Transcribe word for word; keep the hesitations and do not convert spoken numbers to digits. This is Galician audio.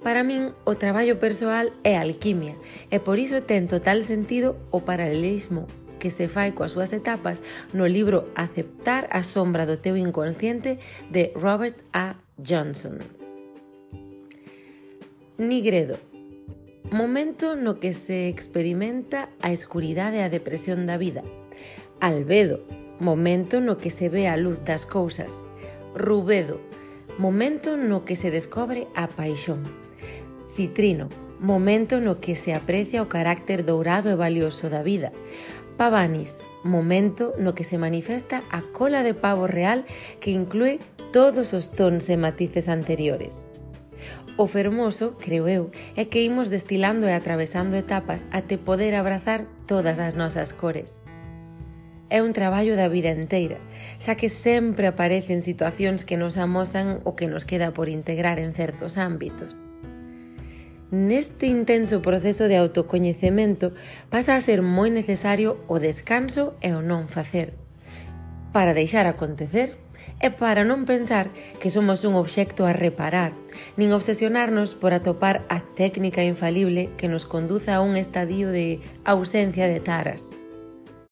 Para min, o traballo persoal é alquimia e por iso ten total sentido o paralelismo que se fai coas súas etapas no libro Aceptar a sombra do teu inconsciente de Robert A. Johnson. Nigredo. Momento no que se experimenta a escuridade e a depresión da vida. Albedo. Momento no que se ve a luz das cousas. Rubedo. Momento no que se descobre a paixón. Citrino. Momento no que se aprecia o carácter dourado e valioso da vida. Pavanis. Momento no que se manifesta a cola de pavo real que inclúe todos os tons e matices anteriores. O fermoso, creo eu, é que imos destilando e atravesando etapas até poder abrazar todas as nosas cores. É un traballo da vida inteira, xa que sempre aparecen situacións que nos amosan o que nos queda por integrar en certos ámbitos. Neste intenso proceso de autocoñecemento pasa a ser moi necesario o descanso e o non facer, para deixar acontecer e para non pensar que somos un obxecto a reparar, nin obsesionarnos por atopar a técnica infalible que nos conduza a un estadio de ausencia de taras.